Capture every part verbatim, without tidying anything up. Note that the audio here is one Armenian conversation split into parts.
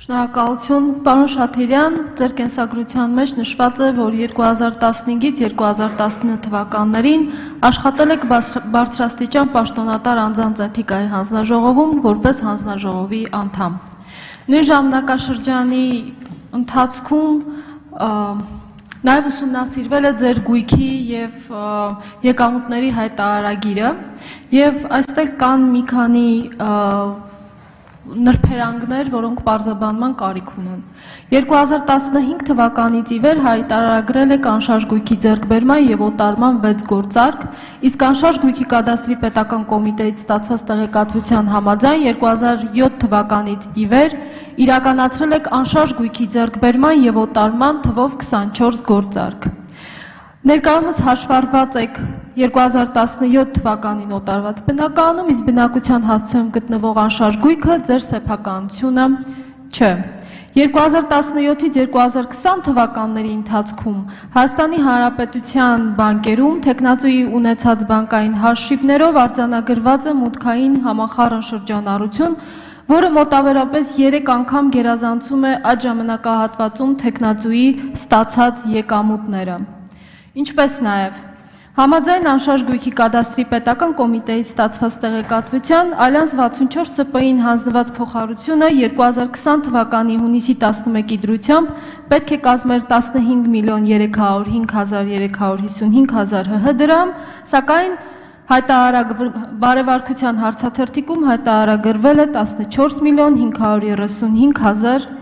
Շնորհակալություն, պարոն Շաթիրյան, ձեր կենսագրության մեջ նշված է, որ երկու հազար տասնհինգից երկու հազար տասնինը թվականներին աշխատել եք բարձրաստիճան պաշտոնատար անձանց էթիկայի հանձնաժողովում որպես հանձնաժողովի անդամ։ Նույն ժամանակաշրջանի ընթացքում նաև ուսումնասիրվել է ձեր գույքի և եկամուտների հայտարարագիրը և այստեղ կան մի քանի նրբերանգներ, որոնք պարզաբանման կարիք ունեն։ երկու հազար տասնհինգ թվականից ի վեր հայտարարագրել եք անշարժ գույքի ձեռքբերման և օտարման վեց գործարք, իսկ անշարժ գույքի կադաստրի պետական կոմիտեից ստացված տեղեկատվության համաձայն երկու հազար յոթ թվականից ի վեր իրականացրել եք անշարժ գույքի ձեռքբերման և օտարման թվով քսանչորս գործարք։ Ներկայումս հաշվառված եք երկու հազար տասնյոթ թվականին օտարված բնակարանում, իսկ բնակության հասցեում գտնվող անշարժ գույքը ձեր սեփականությունը չէ։ երկու հազար տասնյոթից երկու հազար քսան թվականների ընթացքում Հայաստանի Հանրապետության բանկերում թեկնածուի ունեցած բանկային հաշիվներով արձանագրված է մուտքային համախառն շրջանառություն, որը մոտավորապես երեք անգամ գերազանցում է այդ ժամանակահատվածում թեկնածուի ստացած եկամուտները։ Ինչպես նաև համաձայն անշարժ գույքի կադաստրի պետական կոմիտեից ստացված տեղեկատվության Ալյանս վաթսունչորս Ս Պ Ին հանձնված փոխհարությունը երկու հազար քսան թվականի հունիսի տասնմեկի դրությամբ պետք է կազմեր տասնհինգ միլիոն երեք հարյուր հինգ հազար երեք հարյուր հիսունհինգ հազար Հ Հ դրամ, սակայն բարևարկության հարցաթերթիկում հայտարարագրվել է տասնչորս միլիոն հինգ հարյուր երեսունհինգ հազար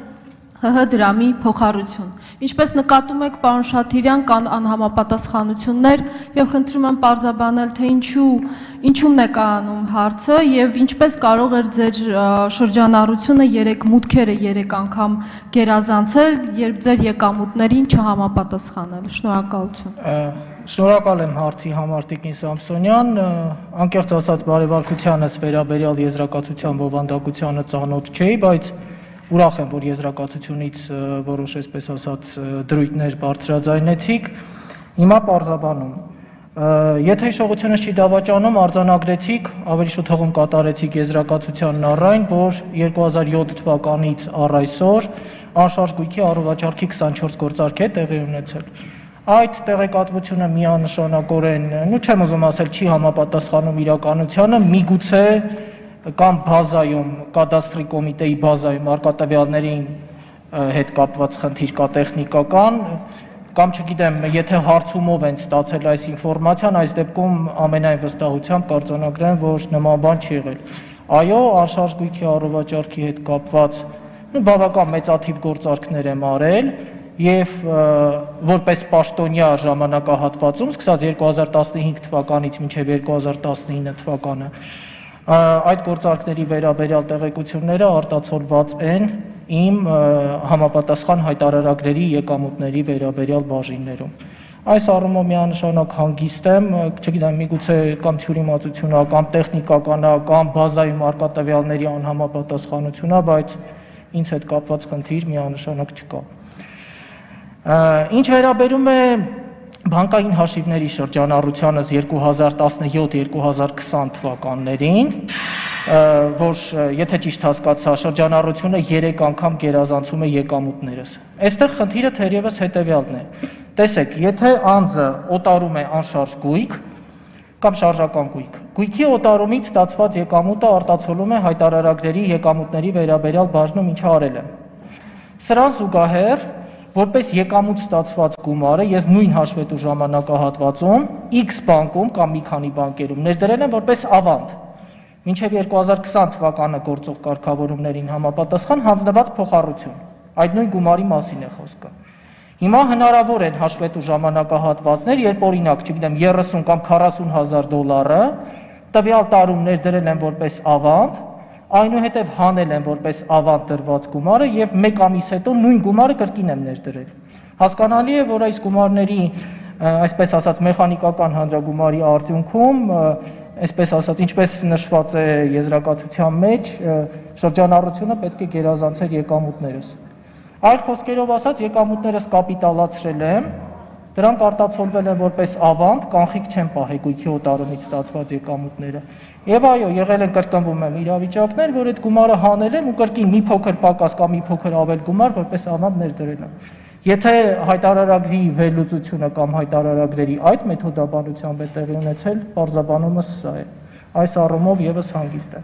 Հ Հ դրամի փոխառություն։ Ինչպես նկատում եք, պարոն Շաթիրյան, կան անհամապատասխանություններ և խնդրում եմ պարզաբանել, թե ինչումն է կայանում հարցը և ինչպես կարող էր ձեր շրջանառությունը երեք մուտքերը երեք անգամ գերազանցել, երբ ձեր եկամուտներին չհամապատասխանել։ Շնորհակալություն։ Շնորհակալ եմ հարցի համար, Տիկին Սամսոնյան, անկեղծ ասած բարևարկությանս վերաբերյալ եզրակացության բովանդակությանը ծանոթ չէի, բայց ուրախ եմ, որ եզրակացությունից որոշ այսպես ասած դրույթներ բարձրաձայնեցիք։ Հիմա պարզաբանում։ Եթե հիշողությունս չի դավաճանում, արձանագրեցիք, ավելի շուտ հողում կատարեցիք եզրակացությանն առայն, որ երկու հազար յոթ թվականից առ այսօր անշարժ գույքի առողջարքի քսանչորս գործարք է տեղի ունեցել։ Այդ տեղեկատվությունը միանշանակորեն, նու չեմ ուզում ասել, չի համապատասխանում իրականությանը, միգուցե կամ բազայում, կադաստրի կոմիտեի բազայում արկատավյալներին հետ կապված խնդիր կա տեխնիկական, կամ չգիտեմ, եթե հարցումով են ստացել այս ինֆորմացիան, այս դեպքում ամենայն վստահությամբ կարձանագրեմ, որ նման բան չի եղել։ Այո, անշարժ գույքի առողջարքի հետ կապված բավական մեծաթիվ գործարքներ եմ արել և որպես պաշտոնյա ժամանակահատվածում, սկսած երկու հազար տասնհինգ թվականից մինչև երկու հազար տասնինը թվականը, այդ գործարքների վերաբերյալ տեղեկությունները արտացոլված են իմ համապատասխան հայտարարագրերի եկամուտների վերաբերյալ բաժիններում։ Այս առումով միանշանակ հանգիստ եմ, չգիտեմ, միգուցե կամ թյուրիմացություն, կամ տեխնիկական, կամ բազայում արկատավյալների անհամապատասխանություն, բայց ինձ հետ կապված խնդիր միանշանակ չկա։ Ինչ վերաբերում է բանկային հաշիվների շրջանառությանս երկու հազար տասնյոթ երկու հազար քսան թվականներին, որ եթե ճիշտ հասկացա, շրջանառությունը երեք անգամ գերազանցում է եկամուտներս։ Այստեղ խնդիրը թերևս հետևյալն է։ Տեսեք, եթե անձը օտարում է անշարժ գույք կամ շարժական գույք, գույքի օտարումից ստացված եկամուտը արտացոլում է հայտարարագրերի եկամուտների վերաբերյալ բաժնում, ինչը արել եմ։ Սրան զուգահեռ որպես եկամուտ ստացված գումարը ես նույն հաշվետու ժամանակահատվածում X բանկում կամ մի քանի բանկերում ներդրել եմ որպես ավանդ, մինչև երկու հազար քսան թվականը գործող կարգավորումներին համապատասխան հանձնված փոխառություն, այդ նույն գումարի մասին է խոսքը։ Հիմա հնարավոր են հաշվետու ժամանակահատվածներ, երբ օրինակ, չգիտեմ, երեսուն կամ քառասուն հազար դոլարը տվյալ տարում ներդրել եմ որպես ավանդ, այնուհետև հանել եմ որպես ավանդ դրված գումարը և մեկ ամիս հետո նույն գումարը կրկին եմ ներդրել։ Հասկանալի է, որ այս գումարների, այսպես ասած, մեխանիկական հանրագումարի արդյունքում, այսպես ասած, ինչպես նշված է եզրակացության մեջ, շրջանառությունը պետք է գերազանցեր եկամուտներս։ Այլ խոսքերով ասած, եկամուտներս կապիտալացրել եմ Դրանք արտացոլվել են որպես ավանդ, կանխիկ չեն պահի գույքի օտարումից ստացված եկամուտները։ Եվ այո, եղել են կրկնվում են իրավիճակներ, որ այդ գումարը հանել են ու կրկին մի փոքր պակաս կամ մի փոքր ավել գումար որպես ավանդ ներդրել են։ Եթե հայտարարագրի վերլուծությունը կամ հայտարարագրերի այդ մեթոդաբանությամբ է տեղի ունեցել, պարզաբանումը սա է։ Այս առումով եւս հանգիստ է։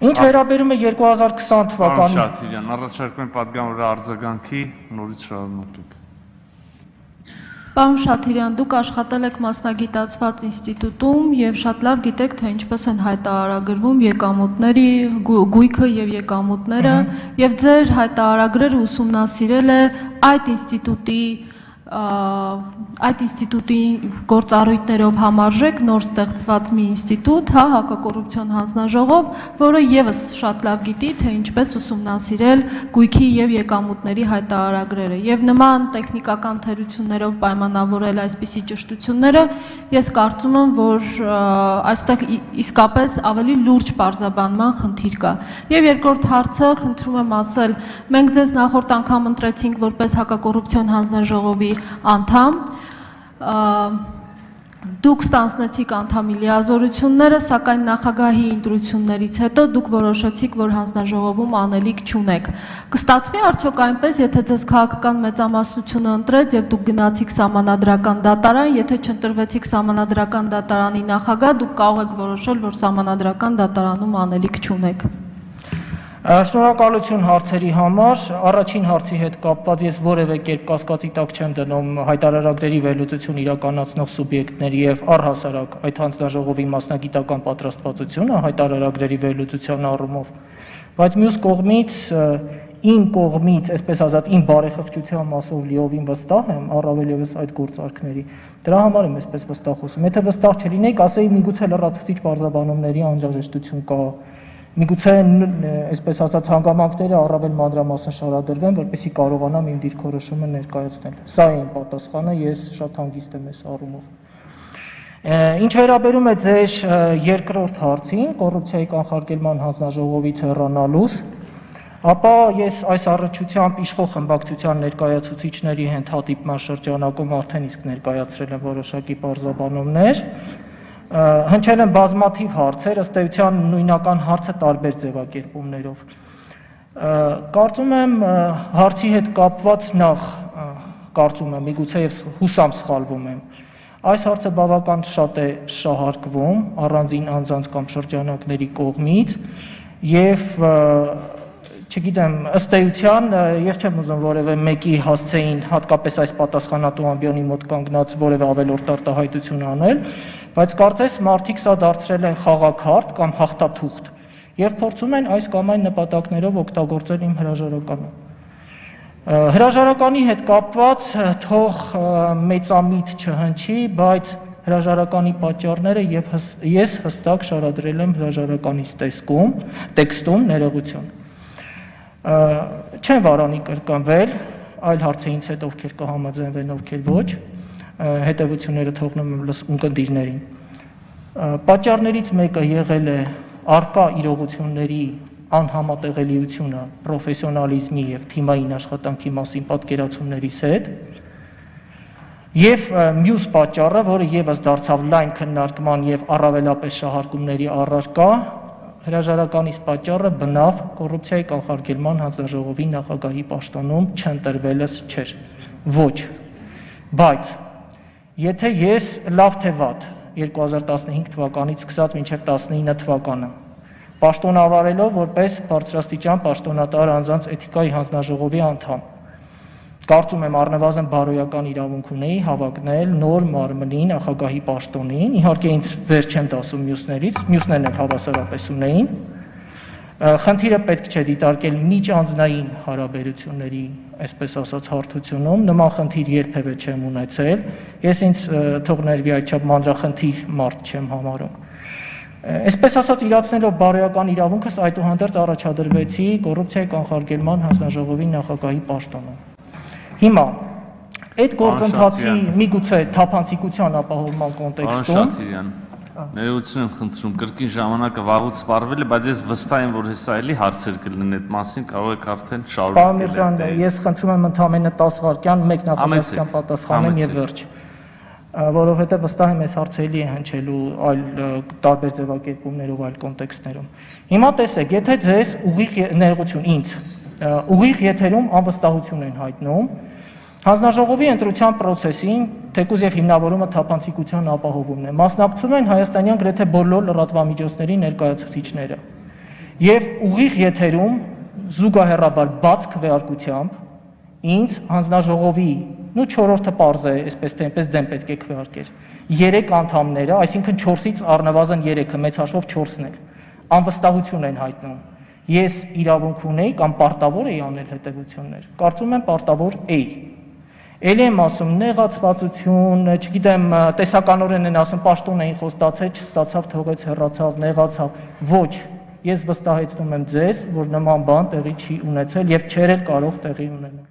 Ինչ վերաբերում է երկու հազար քսան թվականին։ Պարոն Շաթիրյան, առաջարկում եմ պատգամավորը արձագանքի, նորից շարունակեք։ Պարոն Շաթիրյան, դուք աշխատել եք մասնագիտացված ինստիտուտում եւ շատ լավ գիտեք, թե ինչպես են հայտարարագրվում եկամուտների գույքը եւ եկամուտները, եւ ձեր հայտարարագրերը ուսումնասիրել է այդ ինստիտուտի այդ ինստիտուտի գործառույթներով համարժեք նոր ստեղծված մի ինստիտուտ, հա, հակակոռուպցիոն հանձնաժողով, որը եւս շատ լավ գիտի, թե ինչպես ուսումնասիրել գույքի եւ եկամուտների հայտարարագրերը եւ նման տեխնիկական թերություններով պայմանավորել այսպիսի ճշտությունները, ես կարծում եմ, որ այստեղ իսկապես ավելի լուրջ պարզաբանման խնդիր կա։ Եվ երկրորդ հարցը, խնդրում եմ ասել, մենք ձեզ նախորդ անգամ ընտրեցինք որպես հակակոռուպցիոն հանձնաժողովի անդամ, դուք ստանձնեցիք անդամի լիազորությունները, սակայն նախագահի ընտրություններից հետո դուք որոշեցիք, որ հանձնաժողովում անելիք չունեք։ Կստացվի արդյոք այնպես, եթե ձեզ քաղաքական մեծամասնությունը ընտրեց եւ դուք գնացիք սահմանադրական դատարան, եթե չընտրվեցիք սահմանադրական դատարանի նախագահ, դուք կարող եք որոշել, որ սահմանադրական դատարանում անելիք չունեք։ Շնորհակալություն հարցերի համար, առաջին հարցի հետ կապված ես որևէ կերպ կասկածի տակ չեմ դնում հայտարարագրերի վերլուծություն իրականացնող սուբյեկտների եւ առհասարակ այդ հանձնաժողովի մասնագիտական պատրաստվածությունը հայտարարագրերի վերլուծության առումով, բայց մյուս կողմից իմ կողմից, այսպես ասած, իմ բարեխղճության մասով լիովին վստահ եմ, առավել եւս այդ գործարքների։ Դրա համար եմ այսպես վստահ խոսում։ Եթե վստահ չլինեիք, ասեի միգուցե լրացուցիչ բարձրաբանումների անհրաժեշտություն կա։ Միգուցե այսպես ասած հանգամանքները առավել մանրամասն շարադրվեն, որպեսզի կարողանամ իմ դիրքորոշումը ներկայացնել։ Սա է իմ պատասխանը, ես շատ հանգիստ եմ այս առումով։ Ինչ վերաբերում է ձեր երկրորդ հարցին, կոռուպցիայի կանխարգելման հանձնաժողովից հեռանալուց, ապա ես այս առնչությամբ իշխող խմբակցության ներկայացուցիչների հանդիպման շրջանակում արդեն իսկ ներկայացրել եմ որոշակի պարզաբանումներ։ Հնչել են բազմաթիվ հարցեր, ըստ էության նույնական հարցը տարբեր ձևակերպումներով։ Կարծում եմ հարցի հետ կապված նախ, կարծում եմ, միգուցե եւ հուսամ սխալվում եմ, այս հարցը բավական շատ է շահարկվում առանձին անձանց կամ շրջանակների կողմից եւ չգիտեմ, ըստ էության ես չեմ ուզում որևէ մեկի հասցեին, հատկապես այս պատասխանատու ամբիոնի մոտ կանգնած որևէ ավելորդ արտահայտություն անել, բայց կարծես մարդիկ սա դարձրել են խաղաքարտ կամ հաղթաթուղթ եւ փորձում են այս կամ այն նպատակներով օգտագործել իմ հրաժարականը։ Հրաժարականի հետ կապված թող մեծամիտ չհնչի, բայց հրաժարականի պատճառները եւ ես հստակ շարադրել եմ հրաժարականից տեսքում, տեքստում ներողություն։ Չեն վարանի կրկնվել, այլ հարցը ինձ հետ ովքեր կհամաձայնվեն, ովքեր ոչ, հետևությունները թողնում եմ ունկնդիրներին։ Պատճառներից մեկը եղել է առկա իրողությունների անհամատեղելիությունը պրոֆեսիոնալիզմի եւ թիմային աշխատանքի մասին պատկերացումներիս հետ, եւ մյուս պատճառը, որը եւս դարձավ լայն քննարկման եւ առավելապես շահարկումների առարկա, հրաժարականից պատճառը բնավ կոռուպցիայի կանխարգելման հանձնաժողովի նախագահի պաշտոնում չընտրվելս չէր։ Ոչ։ Բայց եթե ես լավ թե վատ երկու հազար տասնհինգ թվականից սկսած մինչև տասնինը թվականը պաշտոնավարելով որպես բարձրաստիճան պաշտոնատար անձանց էթիկայի հանձնաժողովի անդամ, կարծում եմ առնվազն բարոյական իրավունք ունեի հավակնել նոր մարմնի նախագահի պաշտոնին, իհարկե ինձ վեր չեմ դասում մյուսներից, մյուսներն էլ հավասարապես ունեին, խնդիրը պետք չէ դիտարկել միջանձնային հարաբերությունների, այսպես ասած, հարթությունում, նման խնդիր երբևէ չեմ ունեցել, ես ինձ թող ներվի այդչափ մանրախնդիր մարդ չեմ համարում։ Այսպես ասած, իրացնելով բարոյական իրավունքս այդուհանդերձ առաջադրվեցի կոռուպցիայի կանխարգելման հանձնաժողովի նախագահի պաշտոնում։ Հիմա այդ գործընթացի միգուցե թափանցիկության ապահովման կոնտեքստում Ներողություն եմ խնդրում, կրկին ժամանակը վաղուց սպառվել է, բայց ես վստահ եմ, որ հեսա էլի հարցեր կլինեն այդ մասին, կարող եք արդեն շարունակել։ Պարոն Միրզյան, ես խնդրում եմ ընդամենը դես վայրկյան մեկ նախադասության պատասխանեմ եւ վերջ։ Որովհետեւ վստահ եմ, այս հարցերի է հնչելու այլ տարբեր ձևակերպումներով, այլ կոնտեքստներում։ Հիմա տեսեք, եթե ձեզ ուղիղ ներողություն ինձ ուղիղ եթերում անվստահություն են հայտնում, հանձնաժողովի ընտրության process-ին թեկուզ եւ հիմնավորումը թափանցիկության ապահովումն է։ Մասնակցում են հայաստանյան գրեթե բոլոր լրատվամիջոցների ներկայացուցիչները։ Եվ ուղիղ եթերում զուգահեռաբար բաց քվեարկությամբ ինձ հանձնաժողովի, նու չորրորդը պարզ է, այսպես թե այնպես դեմ պետք է քվեարկեր։ Երեք անդամները, այսինքն չորսից առնվազն երեքը, մեծ հաշվով չորսն էլ, անվստահություն են հայտնում։ Ես իրավունք ունեի կամ պարտավոր էի անել հետևություններ։ Կարծում եմ պարտավոր էի։ Էլի եմ ասում, նեղացվածություն, չգիտեմ, տեսականորեն են ասում, պաշտոն էին խոստացել, չստացավ, թողեց, հեռացավ, նեղացավ։ Ոչ, ես վստահեցնում եմ ձեզ, որ նման բան տեղի չի ունեցել եւ չէր էլ կարող տեղի ունենալ։